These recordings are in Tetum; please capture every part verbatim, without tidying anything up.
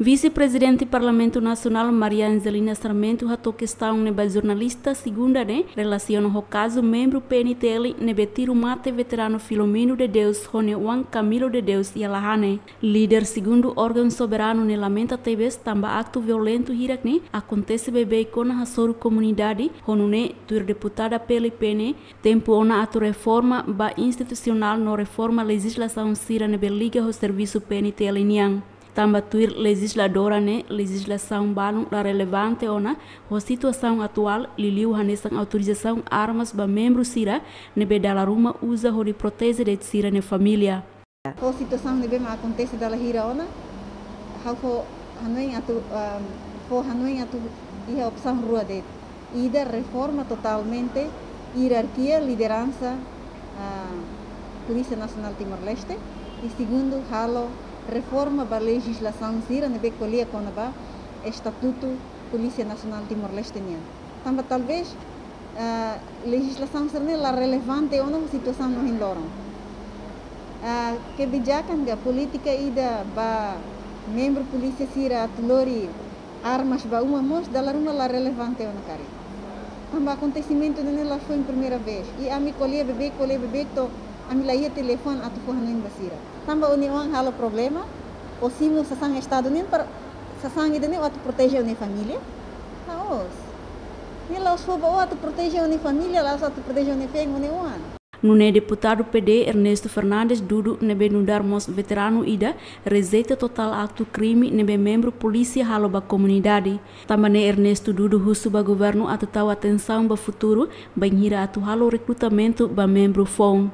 Vise-Prezidente Parlamentu Nasionál Maria Angelina Sarmento hato'o kestaun ne'e ba jornalista segunda ne'e relasiona ho kazu membru P N T L ne'ebé tiru mate veteranu Filomeno de Deus ho nia oan Camilo de Deus iha Lahane. Líder segundu órgaun soberanu ne'e lamenta tebes tanba aktu violentu hirak ne'e akontese beibeik ona hasoru komunidade, ho nune'e tuir deputada P L P ne'e tempu ona atu reforma ba institusionál no reforma lejizlasaun sira ne'ebé liga ho servisu P N T L nian. Tanba tuir lejizladora ne'e lejizlasaun balun la relevante ona ho situasaun atuál, liuliu hanesan autorizasaun armas ba membru sira ne'ebé dala ruma uza hodi proteje de'it sira-nia família. Ho situasaun ne'ebé mak akontese dala hira ona, ha'u fó hanoin atu, ah, fó hanoin atu iha opsaun rua de'it. Ida, reforma totalmente ierarkia lideransa, ah, Polísia Nasionál Timor-Leste. I segundu, halo reforma ba lejizlasaun sira ne'ebé ko'alia kona-ba Estatutu Polísia Nasionál Timor-Leste nian. Tanba talvés, ah, lejizlasaun sira-ne'e la relevante ona ho situasaun ohin loron. Ah, kebijakan ka polítika ida ba membru polísia sira atu lori armas ba uma mós dala ruma la relevante ona karik. Tanba akontesimentu ne'e la foin primeira vez. I ami ko'alia beibeik, ko'alia beibeik to'o ami la iha telefone atu fó hanoin ba sira. Tanba ó-nia oan halo problema, ó simu sasán Estadu nian para sasán ida-ne'e ó atu proteje ó-nia família? La'ós. Ne'e la'ós fó ba ó atu proteje ó-nia família, la'ós atu proteje ó-nia feen, ó-nia oan. Nune'e deputadu P D Ernesto Fernandes dudu ne'ebé nu'udar mós veteranu ida rejeita totál aktu krime ne'ebé membru polísia halo ba komunidade. Tanba ne'e Ernesto dudu husu ba governu atu tau atensaun ba futuru bainhira atu halo rekrutamentu ba membru foun.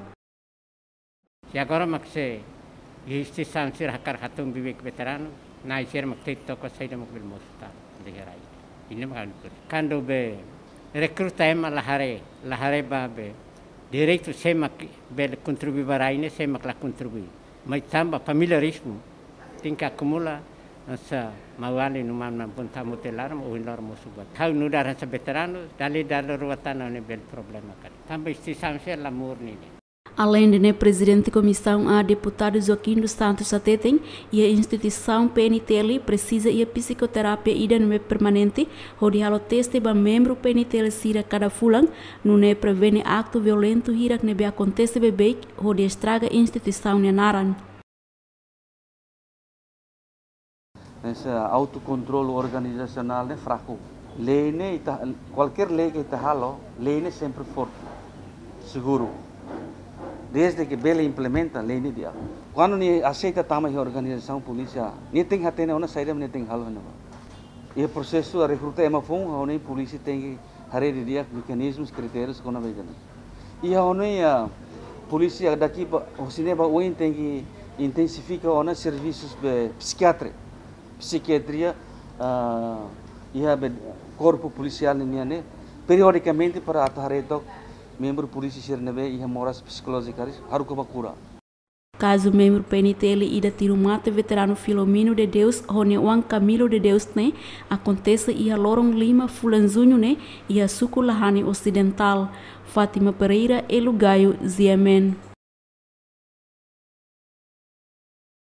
Se agora mak se iha instituisaun sira hakarak hatun beibeik veteranu, Na'i sira mak tau to'o saida mak bele mosu tan de'it iha rai. Ida-ne'e mak anu. Kuandu be rekruta ema la haree, la haree ba be direitu sé mak bele kontribui ba rai ne'e, sé mak la kontribui. Mai tanba familiarizmu, tenke akumula, hanesan maun-alin no maun-alin boot, tamu te laran, ohin loron mosu ba. Ha'u nu'udar hanesan veteranu, dala ida dala rua tan ne'e bele problema karik. Tanba instituisaun sira la murni ne'e. Aleinde ne'e, Prezidente Komisaun A, Deputadu Joaquim dos Santos hateten, iha instituisaun P N T L presiza iha psikoterapia ida ne'ebé permanente, hodi halo teste ba membru P N T L sira kada fulan, nune'e prevene aktu violentu hirak ne'ebé akontese beibeik, hodi estraga instituisaun nia naran. Hanesan autokontrolu organizasionál ne'e fraku. Lei ne'e ita, kualkér lei ke ita halo, lei ne'e sempre forte, seguru. Desde ke bele implementa, lei ne'e di'ak. Kuandu nia aseita tama iha organizasaun polísia, nia tenke hatene ona saida mak nia tenke halo iha ne'ebá. Iha prosesu rekruta ema foun, ha'u hanoin polísia tenke haree didi'ak mekanizmus, kritérius kona-ba ida-ne'e. I ha'u hanoin, ah, polísia daqui ba, husi ne'e ba oin tenke intensifika ona servisus be psikiatri, psikiatria, ah, iha be korpu polisiál nian ne'e, periodikamente para atu haree took membru polísia sira ne'ebé iha moras psikolójika, haruka ba kura. Kazu membru P N T L ida tiru mate veteranu Filomeno de Deus ho nia oan Camilo de Deus ne'e akontese iha loron lima fulan Juñu ne'e iha suku Lahane Osidentál. Fátima Pereira, Elo Gayo, G M N.